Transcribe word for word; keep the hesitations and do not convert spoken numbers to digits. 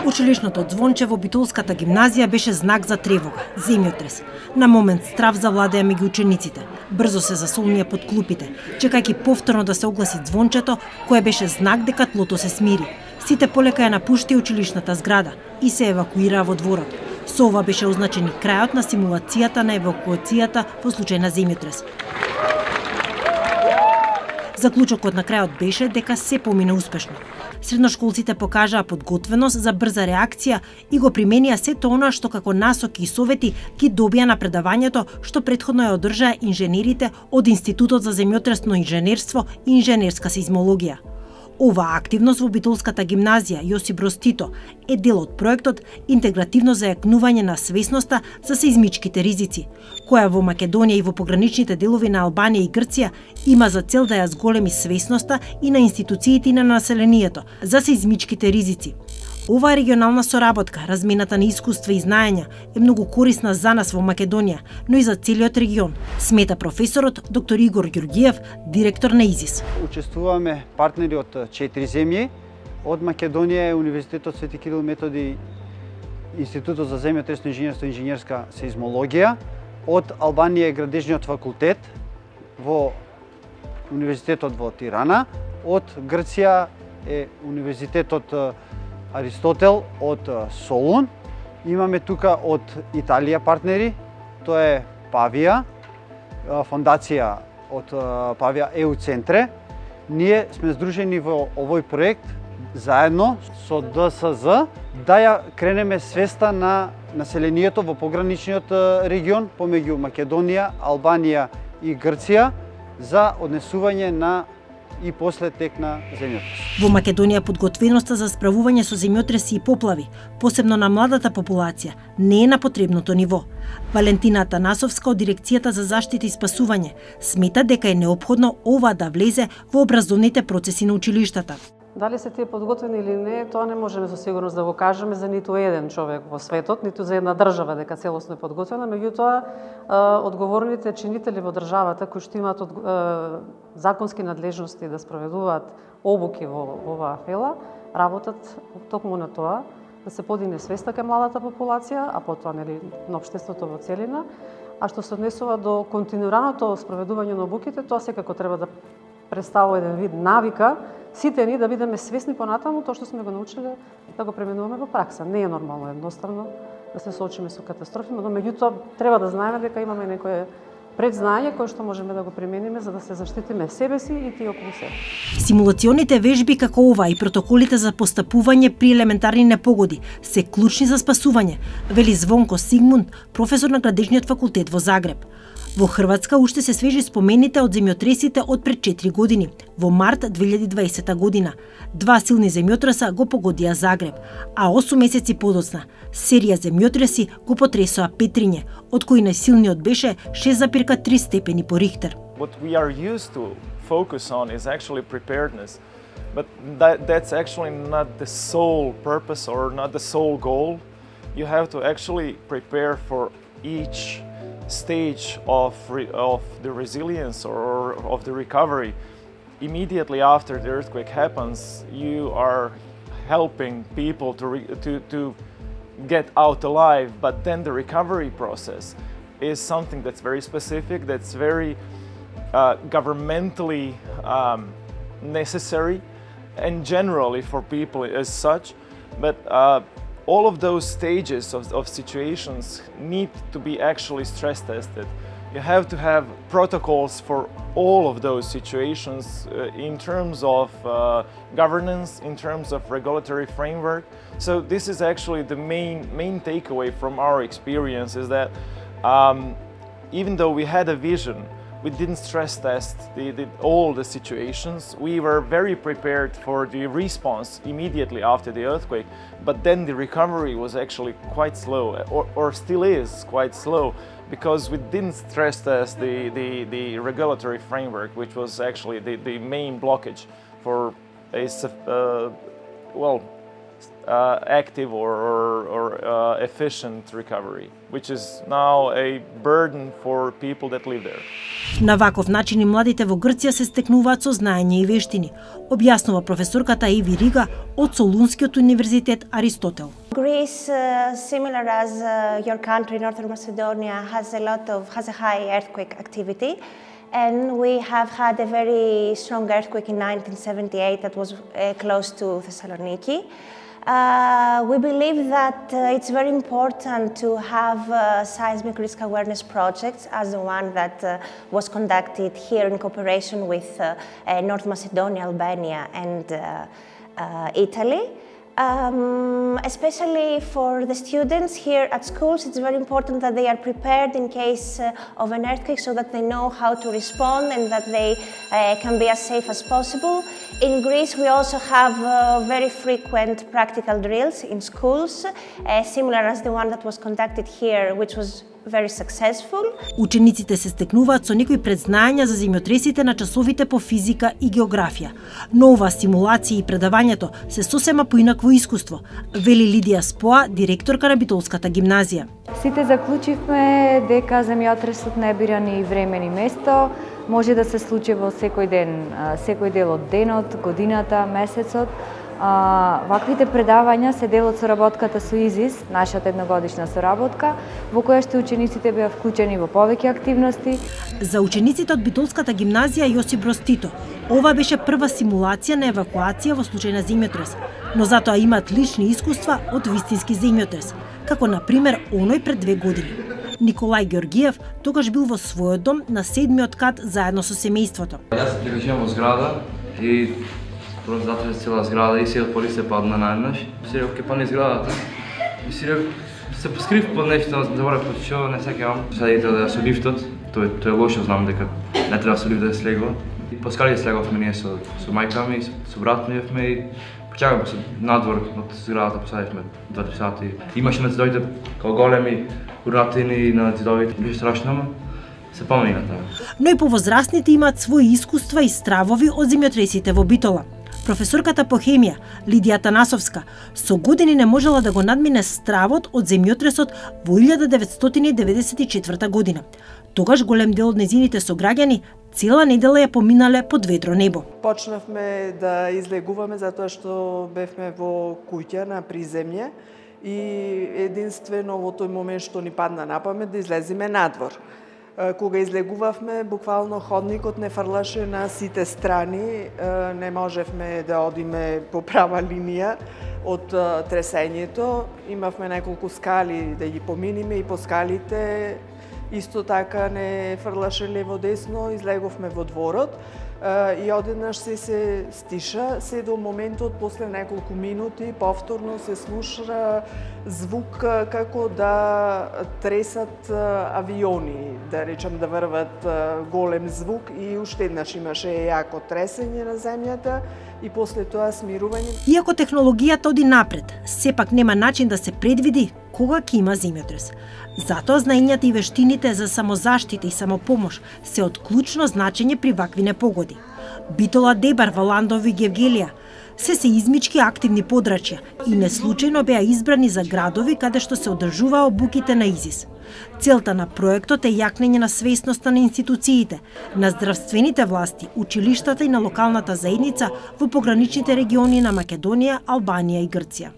Училишното звонче во Битолската гимназија беше знак за тревога, земјотрес. На момент страв завладеа меѓу учениците. Брзо се засолнија под клупите, чекајќи повторно да се огласи звончето, кое беше знак дека тлото се смири. Сите полека ја напуштија училишната зграда и се евакуираа во дворот. Со ова беше означен и крајот на симулацијата на евакуацијата во случај на земјотрес. Заклучокот на крајот беше дека се помина успешно. Средношколците покажаа подготвеност за брза реакција и го применија сето она што како насоки и совети ги добија на предавањето што претходно ја одржаа инженерите од Институтот за земјотресно инженерство и инженерска сеизмологија. Оваа активност во Битолската гимназија Јосип Броз Тито е дел од проектот Интегративно зајакнување на свесноста за сеизмичките ризици, која во Македонија и во пограничните делови на Албанија и Грција има за цел да ја зголеми свесноста и на институциите и на населението за сеизмичките ризици. Оваа регионална соработка, размената на искуства и знаења, е многу корисна за нас во Македонија, но и за целиот регион, смета професорот доктор Игор Ѓурѓиев, директор на ИЗИС. Учествуваме партнери од четири земји, од Македонија е Универзитетот Свети Кирил Методи, Институтот за земјотресно инженерство и инженерска сеизмологија, од Албанија е Градежниот факултет во Универзитетот во Тирана, од Грција е Универзитетот Аристотел од Солун. Имаме тука од Италија партнери, тоа е Павија, фондација од Павија ЕУ Центре. Ние сме здружени во овој проект заедно со Д С З да ја кренеме свеста на населението во пограничниот регион помеѓу Македонија, Албанија и Грција за однесување на и после тек на земјотрес. Во Македонија подготвеноста за справување со земјотреси и поплави, посебно на младата популација, не е на потребното ниво. Валентина Атанасовска од Дирекцијата за заштита и спасување смета дека е неопходно ова да влезе во образовните процеси на училиштата. Дали се тие подготвени или не, тоа не можеме со сигурност да го кажеме за ниту еден човек во светот, ниту за една држава дека целосно е подготвена, меѓутоа одговорните чинители во државата кои што имаат законски надлежности да спроведуваат обуки во оваа фела, работат токму на тоа да се подигне свеста кај младата популација, а потоа нели на општеството во целина. А што се однесува до континуираното спроведување на обуките, тоа секако треба да представува еден вид навика, сите ни да бидеме свесни понатаму тоа што сме го научиле да го пременуваме во пракса. Не е нормално едноставно да се соочиме со катастрофи, но меѓутоа треба да знаеме дека имаме некое предзнање кое што можеме да го примениме за да се заштитиме себе си и тие околу себе. Симулационите вежби како ова и протоколите за постапување при елементарни непогоди се клучни за спасување, вели Звонко Сигмунд, професор на Градежниот факултет во Загреб. Во Хрватска уште се свежи спомените од земјотресите од пред четири години, во март две илјади и дваесета година. Два силни земјотреса го погодија Загреб, а осум месеци подоцна серија земјотреси го потресоа Петриње, од кои најсилниот беше шест зарез три степени по Рихтер. What we are used to focus on is actually preparedness, but that, that's actually not the sole purpose or not the sole goal. You have to actually prepare for each stage of, re, of the resilience or of the recovery. Immediately after the earthquake happens, you are helping people to, re, to, to get out alive, but then the recovery process is something that's very specific, that's very uh, governmentally um, necessary and generally for people as such, but uh, all of those stages of, of situations need to be actually stress tested. You have to have protocols for all of those situations uh, in terms of uh, governance, in terms of regulatory framework. So this is actually the main, main takeaway from our experience is that um, even though we had a vision, we didn't stress test the, the, all the situations. We were very prepared for the response immediately after the earthquake, but then the recovery was actually quite slow, or, or still is quite slow, because we didn't stress test the, the, the regulatory framework, which was actually the, the main blockage for a uh, well, uh, active or, or, or uh, efficient recovery, which is now a burden for people that live there. На ваков начин и младите во Грција се стекнуваат со знаење и вештини, објаснува професорката Еви Рига од Солунскиот универзитет Аристотел. Greece, uh, similar as uh, your country, Northern Macedonia, has a lot of has a high earthquake activity, and we have had a very strong earthquake in nineteen seventy-eight that was uh, close to Thessaloniki. Uh, we believe that uh, it's very important to have uh, seismic risk awareness projects as the one that uh, was conducted here in cooperation with uh, uh, North Macedonia, Albania and uh, uh, Italy. Um, especially for the students here at schools, it's very important that they are prepared in case uh, of an earthquake so that they know how to respond and that they uh, can be as safe as possible. In Greece, we also have uh, very frequent practical drills in schools, uh, similar as the one that was conducted here, which was very successful. Учениците се стекнуваат со некои предзнаења за земјотресите на часовите по физика и географија. Но ова стимулација и предавањето се сосема поинакво искуство, вели Лидија Споа, директорка на Битолската гимназија. Сите заклучивме дека земјотресот не бира ни време ни место, може да се случи во секој ден, секој дел од денот, годината, месецот. А, ваквите предавања се дел од соработката со ИЗИС, нашата едногодишна соработка, во која што учениците беа вклучени во повеќе активности. За учениците од Битолската гимназија Јосип Броз Тито, ова беше прва симулација на евакуација во случај на земјотрес, но затоа имаат лични искуства од вистински земјотрес, како на пример оној пред две години. Николај Георгиев тогаш бил во својот дом на седмиот кат заедно со семејството. Јас дека живеам во зграда и просто затоа цела зграда и се отпори се падна наеднаш. Се ке падне зградата. И се се поскрив под нешто, заборав под што не сакам. Садите да со лифтот, тоа тоа е лошо, знам дека не треба со лифт да слегува. И по скали слеговме ние со со мајка ми, со брат ми и почекавме се надвор од зградата, посадивме два сати. Имаше на зидовите како големи уратини на зидовите, беше страшно. Се помнина тоа. Но и повозрастните имаат своји искуства и стравови од земјотресите во Битола. Професорката по хемија, Лидија Танасовска, со години не можела да го надмине стравот од земјотресот во илјада деветстотини деветдесет и четврта година. Тогаш голем дел од незините сограѓани цела недела ја поминале под ведро небо. Почнавме да излегуваме затоа што бевме во куќа на приземје и единствено во тој момент што ни падна на памет да излеземе надвор. Кога излегувавме, буквално ходникот не фрлаше на сите страни, не можевме да одиме по права линија од тресењето. Имавме неколку скали да ги поминиме и по скалите исто така не фрлаше лево-десно, излеговме во дворот и одеднаш се се стиша, се до моментот после неколку минути повторно се слуша звук како да тресат авиони, да речам да врват голем звук и уште еднаш имаше јако тресење на земјата и после тоа смирување. Иако технологијата оди напред, сепак нема начин да се предвиди кога ќе има земјотрес. Затоа знаењата и вештините за самозаштита и самопомош се од клучно значење при вакви непогоди. Битола, Дебар, Валандов и Гевгелија се се измички активни подрачја и неслучајно беа избрани за градови каде што се одржуваа обуките на ИЗИС. Целта на проектот е јакнење на свесноста на институциите, на здравствените власти, училиштата и на локалната заедница во пограничните региони на Македонија, Албанија и Грција.